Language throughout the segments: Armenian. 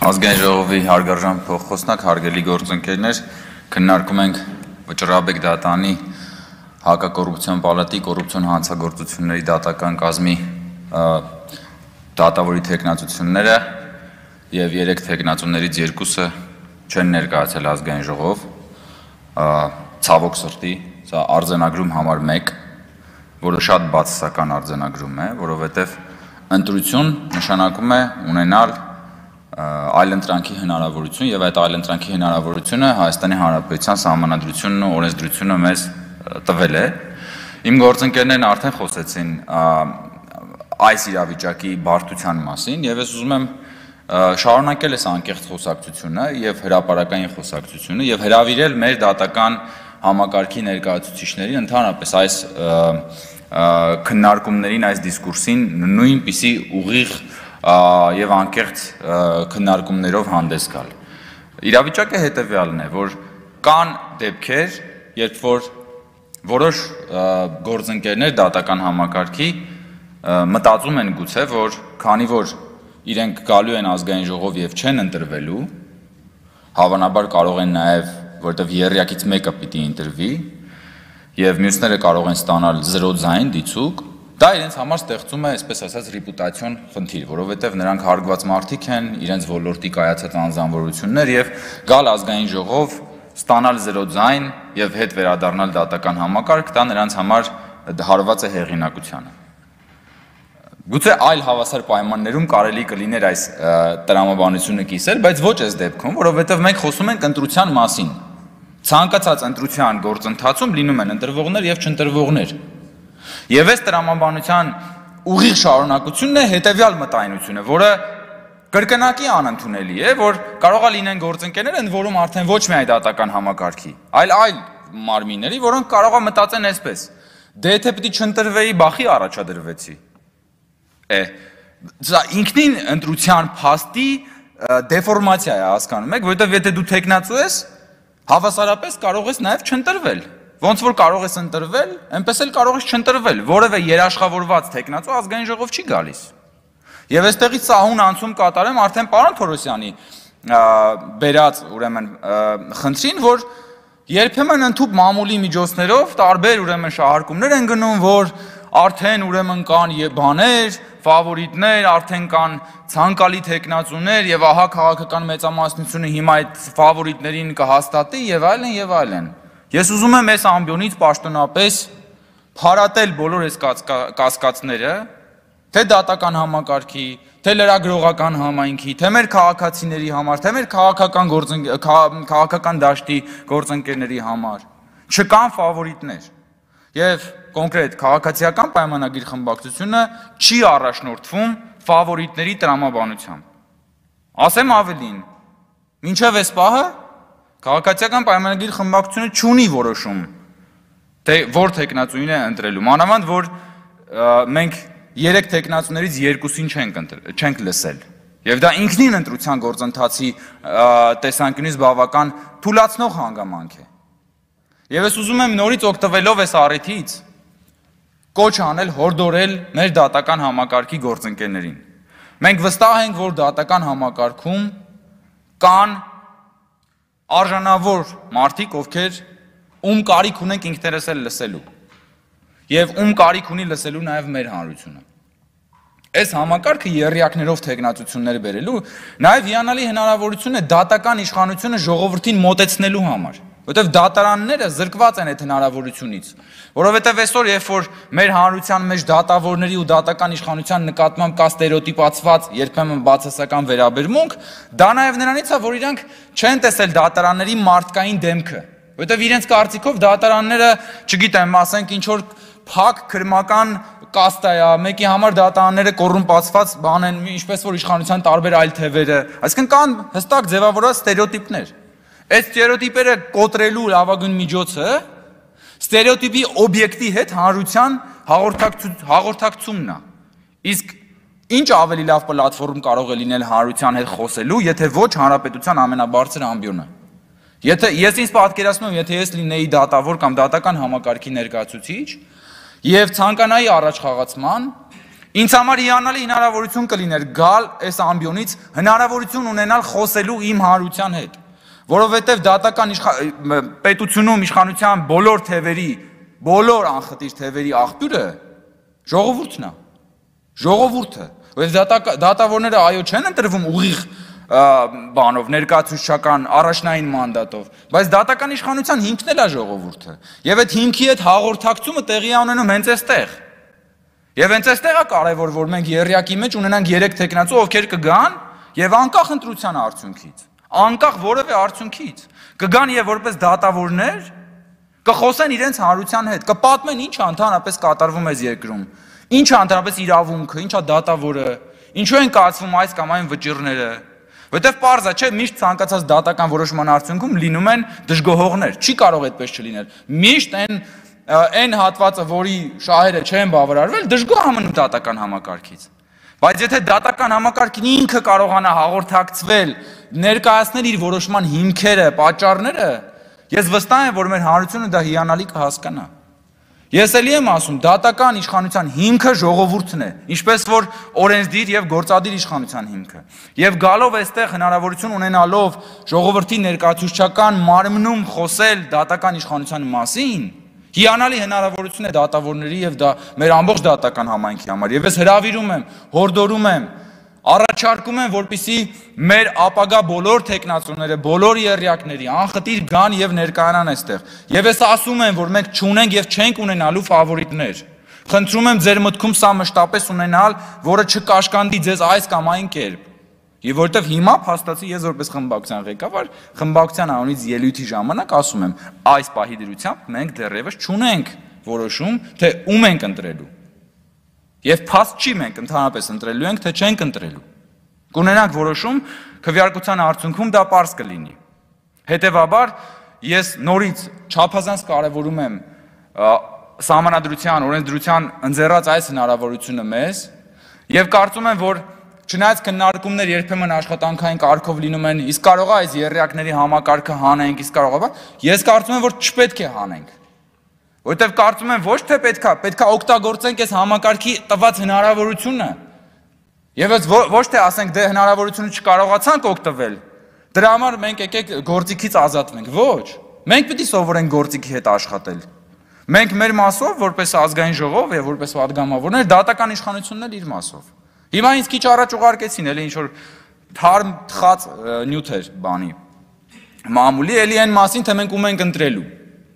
Ազգային ժողովի հարգարժան փոխխոսնակ, հարգելի գործընկերներ, քննարկում ենք Վճռաբեկ դատանի հակակոռուպցիոն պալատի կոռուպցիոն հանցագործությունների դատական կազմի դատավորի թեկնածությունները եւ 3 թեկնածուներից 2-ը չեն ներկայացել ազգային ժողով, ցավոք սրտի, սա արձանագրում համար 1, որը շատ բացասական արձանագրում է, որովհետեւ ընտրություն նշանակում է ունենալ այլընտրանքի հնարավորություն եւ այդ այլընտրանքի հնարավորությունը Հայաստանի Հանրապետության Սահմանադրությունն ու օրենսդրությունը մեզ տվել է։ Իմ գործընկերներն արդեն խոսեցին այս իրավիճակի բարդության մասին եւ ես ուզում եմ շարունակել այս անկեղծ խոսակցությունը եւ հրապարակային խոսակցությունը եւ հրավիրել մեր դատական համակարգի ներկայացուցիչներին ընդհանրապես այս քննարկումներին, այս դիսկուրսին նույնպիսի ուղիղ եւ անկեղծ քննարկումներով հանդես գալ։ Իրավիճակը հետեւյալն է, որ կան դեպքեր, երբ որ որոշ գործընկերներ դատական համակարգի մտածում են գուցե, որ քանի որ իրենք գալու են ազգային ժողով եւ չեն ընտրվելու, հավանաբար կարող են նաեւ, որտեղ երրյակից մեկը պիտի ընտրվի եւ մյուսները կարող են ստանալ 0 ձայն դիցուկ, դա իրենց համար ստեղծում է, այսպես ասած, ռեպուտացիոն խնդիր, որովհետև նրանք հարգված մարդիկ են, իրենց ոլորտի կայացած անձնավորություններ եւ գալ ազգային ժողով, ստանալ 0 ձայն եւ հետ վերադառնալ դատական համակարգ, դա նրանց համար հարված է հեղինակությանը։ Գուցե այլ հավասար պայմաններում կարելի կլիներ այս տրամաբանությունը կիսել, բայց ոչ այս դեպքում, որովհետև մենք խոսում ենք ընտրության մասին։ Ցանկացած ընտրության գործընթացում լինում են ընտրվողներ եւ չընտրվողներ։ Եվ այս տրամաբանության ուղիղ շարունակությունն է հետեւյալ մտայնությունը, որը կրկնակի անընդունելի է, որ կարող է լինեն գործընկերներ, ընդ որում արդեն ոչ միայն դատական համակարգի, այլ մարմինների, որոնք կարող է մտածեն այսպես. դե եթե պիտի չընտրվեի, բախի առաջադրվեցի։ Սա ինքնին ընտրության փաստի դեֆորմացիա է, հասկանում եք, որովհետև եթե դու թեկնածու ես, հավասարապես կարող ես նաև չընտրվել։ Ոնց որ կարող ես ընտրվել, այնպես էլ կարող ես չընտրվել, որևէ երաշխավորված թեկնածու ազգային ժողով չի գալիս։ Եվ այստեղից սահուն անցում կատարեմ արդեն պարոն Թորոսյանի բերած ուրեմն խնդրին, որ երբեմն ընդհուպ մամուլի միջոցներով տարբեր ուրեմն շահարկումներ են գնում, որ արդեն ուրեմն կան բաներ, ֆավորիտներ, արդեն կան ցանկալի թեկնածուներ եւ ահա քաղաքական մեծամասնությունը հիմա այդ ֆավորիտներին կհաստատի եւ այլն եւ այլն։ Ես ուզում եմ այս ամբիոնից պաշտոնապես փարատել բոլոր այս կասկածները, թե դատական համակարգի, թե լրագրողական համայնքի, թե մեր քաղաքացիների համար, թե մեր քաղաքական դաշտի գործընկերների համար։ Չկան ֆավորիտներ։ Եվ կոնկրետ քաղաքացիական պայմանագիր խմբակցությունը չի առաջնորդվում ֆավորիտների տրամաբանությամբ։ Ասեմ ավելին, մինչև այս պահը քաղաքացիական պայմանագիր խմբակցությունը չունի որոշում, թե որ թեկնածուին է ընտրելու, մանավանդ որ մենք 3 թեկնածուներից 2-ին չենք լսել։ Եվ դա ինքնին ընտրության գործընթացի տեսանկյունից բավական թուլացնող հանգամանք է։ Եվ ես ուզում եմ նորից օգտվելով այս առիթից կոչ անել հորդորել մեր դատական համակարգի գործընկերներին։ Մենք վստահ ենք, որ դատական համակարգում կան արժանավոր մարդիկ, ովքեր ում կարիք ունենք ինքներս էլ լսելու եւ ում կարիք ունի լսելու նաեւ մեր հանրությունը։ Այս համակարգը երրյակներով թեկնածություններ բերելու նաեւ հիանալի հնարավորություն է դատական իշխանությունը ժողովրդին մոտեցնելու համար, որովհետեւ դատարանները զրկված են այդ հնարավորությունից, որովհետեւ այսօր երբ որ մեր հանրության մեջ դատավորների ու դատական իշխանության նկատմամբ կա ստերեոտիպացված երբեմն բացասական վերաբերմունք, դա նաեւ նրանից է, որ իրանք չեն տեսել դատարանների մարդկային դեմքը, որովհետեւ իրենց կարծիքով դատարանները, չգիտեմ, ասենք ինչ որ փակ քրմական կաստա է, մեկի համար դատարանները կոռումպացված բան են, ինչպես որ իշխանության տարբեր այլ թևերը, այսինքն կան հստակ ձևավորված ստերեոտիպներ։ Այդ ստերեոտիպերը կոտրելու լավագույն միջոցը ստերեոտիպի օբյեկտի հետ հանրության հաղորդակցումն է։ Իսկ ինչ ավելի լավ պլատֆորմ կարող է լինել հանրության հետ խոսելու, եթե ոչ հանրապետության ամենաբարձր ամբիոնը։ Ես ինձ պատկերացնում եմ, եթե ես լինեի դատավոր կամ դատական համակարգի ներկայացուցիչ եւ ցանկանայի առաջխաղացման, Ինձ համար հիանալի հնարավորություն կլիներ գալ այս ամբիոնից հնարավորություն ունենալ խոսելու իմ հանրության հետ, որովհետև դատական պետությունում իշխանության բոլոր թևերի, բոլոր անխտիր թևերի աղբյուրը ժողովուրդն է, ժողովուրդը, որովհետև դատավորները այո չեն ընտրվում ուղիղ բանով, ներկայացուցչական առաջնային մանդատով, բայց դատական իշխանության հիմքն էլ է ժողովուրդը, եւ այդ հիմքի հետ հաղորդակցումը տեղի է ունենում հենց այստեղ։ Եվ հենց այստեղ է կարևոր, որ մենք եռյակի մեջ ունենանք 3 տեխնացու, ովքեր կգան եւ անկախ ընտրության արդյունքից, անկախ որևէ արդյունքից, կգան եւ որպես դատավորներ կխոսեն իրենց հանրության հետ, կպատմեն ինչ ընդհանրապես կատարվում է երկրում, ինչ է ընդհանրապես իրավունքը, ինչ է դատավորը, ինչու են կայացվում այս կամ այն վճիռները, որտեվ պարզ է, չէ, միշտ ցանկացած դատական որոշման արդյունքում լինում են դժգոհողներ, չի կարող այդպես չլինել, միշտ այն հատվածը, որի շահերը չեն բավարարվել, դժգոհ ամն դատական համակարգից։ Բայց եթե դատական համակարգին ինքը կարողանա հաղորդակցվել, ներկայացնել իր որոշման հիմքերը, պատճառները, ես վստահ եմ, որ մեր հանրությունը դա հիանալի կհասկանա։ Ես էլի եմ ասում, դատական իշխանության հիմքը ժողովուրդն է, ինչպես որ օրենսդիր եւ գործադիր իշխանության հիմքը։ Եվ գալով այստեղ հնարավորություն ունենալով ժողովրդի ներկայացուցչական մարմնում խոսել դատական իշխանության մասին, հիանալի հնարավորություն է դատավորների եւ մեր ամբողջ դատական համայնքի համար։ Եվ ես հրավիրում եմ, հորդորում եմ, առաջարկում եմ, որպեսզի մեր ապագա բոլոր տեխնացուները, բոլոր եռյակների անխտիր գան եւ ներկայանան այստեղ։ Եվ ես ասում եմ, որ մենք չունենք եւ չենք ունենալու ֆավորիտներ։ Խնդրում եմ ձեր մտքում սա մշտապես ունենալ, որը չկաշկանդի ձեզ այս կամ այն կերպ։ Եվ որտեվ հիմա փաստացի ես որպես խմբակցության ղեկավար, խմբակցության անունից ելույթի ժամանակ ասում եմ, այս պահի դրությամբ մենք դեռևս չունենք որոշում, թե ում ենք ընտրելու։ Եվ փաստ չի մենք ընդհանրապես ընտրելու ենք, թե չենք ընտրելու։ Կունենանք որոշում, քվեարկության արդյունքում դա պարզ կլինի։ Հետևաբար ես նորից չափազանց կարևորում եմ սահմանադրության, օրենսդրության ընձեռած այս հնարավորությունը մեզ եւ կարծում եմ, որ չնայած քննարկումներ երբեմն աշխատանքային կարգով լինում են, իսկ կարող է այս եռյակների համակարգը հանենք, իսկ կարող է, ես կարծում եմ, որ չպետք է հանենք։ Որտեվ կարծում եմ ոչ թե պետքա օգտագործենք այս համակարգի տված հնարավորությունը։ Եվ ոչ թե ասենք դե հնարավորությունը չկարողացանք օգտվել, դրա համար մենք եկեք գործիքից ազատվենք։ Ոչ, մենք պիտի սովորենք գործիքի հետ աշխատել։ Մենք մեր մասով, որպես ազգային ժողով եւ որպես պատգամավորներ, դատական իշխանությունն էլ իր մասով։ Հիմա ինձ քիչ առաջ ուղարկեցին, էլի ինչ որ թարմ թխած նյութ էր բանի։ Մամուլի էլի այն մասին, թե մենք ում ենք ընտրելու։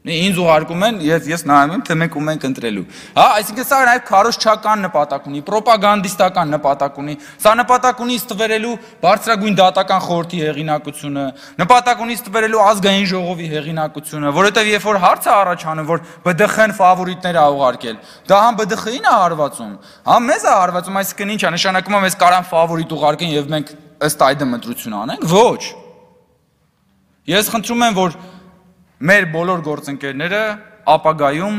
Ինձ ուղարկում են, ես նայում եմ, թե մենք ում ենք ընտրելու։ Հա, այսինքն սա նաև քարոզչական նպատակ ունի, պրոպագանդիստական նպատակ ունի։ Սա նպատակ ունի ստվերելու բարձրագույն դատական խորհրդի հեղինակությունը, նպատակ ունի ստվերելու ազգային ժողովի հեղինակությունը, որովհետև երբ որ հարց է առաջանում, որ ԲԴԽ-ն ֆավորիտներ է ուղարկել, դա համ ԲԴԽ-ին է հարվածում, համ մեզ է հարվածում, այսինքն ի՞նչ է, նշանակում է մեզ կարան ֆավորիտ ուղարկեն եւ մենք ըստ այդմ ընտրություն անենք։ Ոչ։ Ես խնդրում եմ, որ մեր բոլոր գործընկերները ապագայում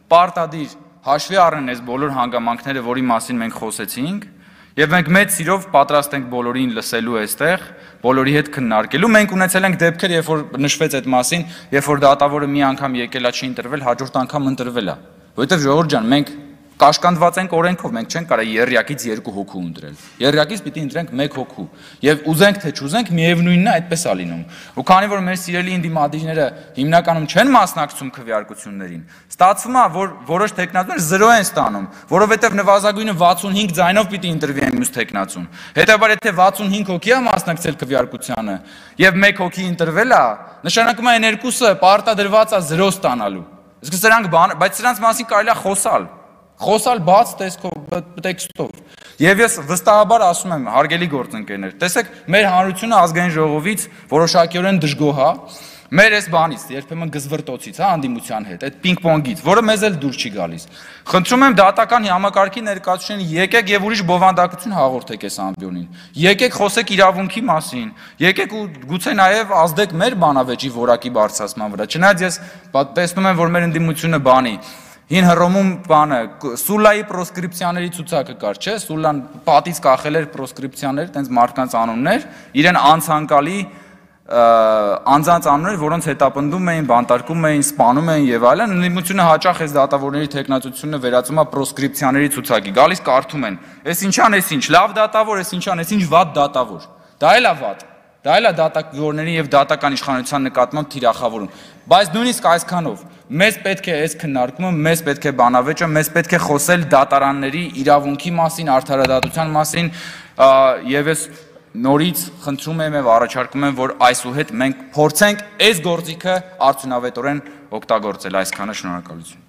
պարտադիր հաշվի առնեն այս բոլոր հանգամանքները, որի մասին մենք խոսեցինք, եւ մենք մեծ սիրով պատրաստ ենք բոլորին լսելու այստեղ, բոլորի հետ քննարկելու։ Մենք ունեցել ենք դեպքեր, երբ որ նշվեց այդ մասին, երբ որ դատավորը մի անգամ եկել է, չի ընտրվել, հաջորդ անգամ ընտրվել է։ Որովհետեւ ժողովուրդ ջան, մենք կաշկանդված ենք օրենքով, մենք չենք կարող եռյակից 2 հոգու ընտրել։ Եռյակից պիտի ընտրենք 1 հոգու։ Եվ ուզենք թե չուզենք, միևնույնն է, այդպես է լինում։ Ու քանի որ մեր սիրելի ինդիմադիրները հիմնականում չեն մասնակցում քվեարկություններին, ստացվում է, որ որոշ տեխնացուներ 0 են ստանում, որովհետև նվազագույնը 65 ձայնով պիտի ընտրվի այն մյուս տեխնացուն։ Հետևաբար եթե 65 հոգի է մասնակցել քվեարկությանը եւ 1 հոգի ընտրվել է, նշանակում է այն երկուսը պարտադրված է 0 ստանալու։ Իսկ սրանք բայց սրանց մասին կարելի է խոսալ բաց տեքստով։ Եվ ես վստահաբար ասում եմ, հարգելի գործընկերներ, տեսեք, մեր հանրությունը ազգային ժողովից որոշակիորեն դժգոհ է, մեր այս բանից, երբեմն գզվրտոցից, անդիմության հետ, այդ պինգ-պոնգից, որը մեզ էլ դուր չի գալիս։ Խնդրում եմ դատական համակարգի ներկայացուցիչներին, եկեք եւ ուրիշ բովանդակություն հաղորդեք այս ամբիոնին։ Եկեք խոսեք իրավունքի մասին, եկեք ու գուցե նաեւ ազդեք մեր բանավեճի որակի բարձրացման վրա։ Չնայած ես տեսնում եմ, որ մեր ընդդիմությունը բանի Հին Հռոմում բանը Սուլայի պրոսկրիպցիաների ցուցակը կար, չէ՞, Սուլան պատից կախել էր պրոսկրիպցիաներ, տենց մարդկանց անուններ, իրեն անցանկալի անձանց անուններ, որոնց հետապնդում էին, բանտարկում էին, սպանում էին եւ այլն, ընդդիմությունը հաճախ այս դատավորների տեխնացությունը վերածում է պրոսկրիպցիաների ցուցակի։ Գալիս կարդում են, այս ինչան, այս ինչ, լավ դատավոր, այս ինչան, այս ինչ վատ դատավոր։ Դա էլ է վատ։ Դա էլ է դատավորների եւ դատական իշխանության նկատմամբ թիրախավորում։ Բայց նույնիսկ այսքանով մեզ պետք է այս քննարկումը, մեզ պետք է բանավեճը, մեզ պետք է խոսել դատարանների իրավունքի մասին, արդարադատության մասին եւ ես նորից խնդրում եմ եւ առաջարկում եմ, որ այսուհետ մենք փորձենք այս գործիքը արդյունավետորեն օգտագործել։ Այսքանը, շնորհակալություն։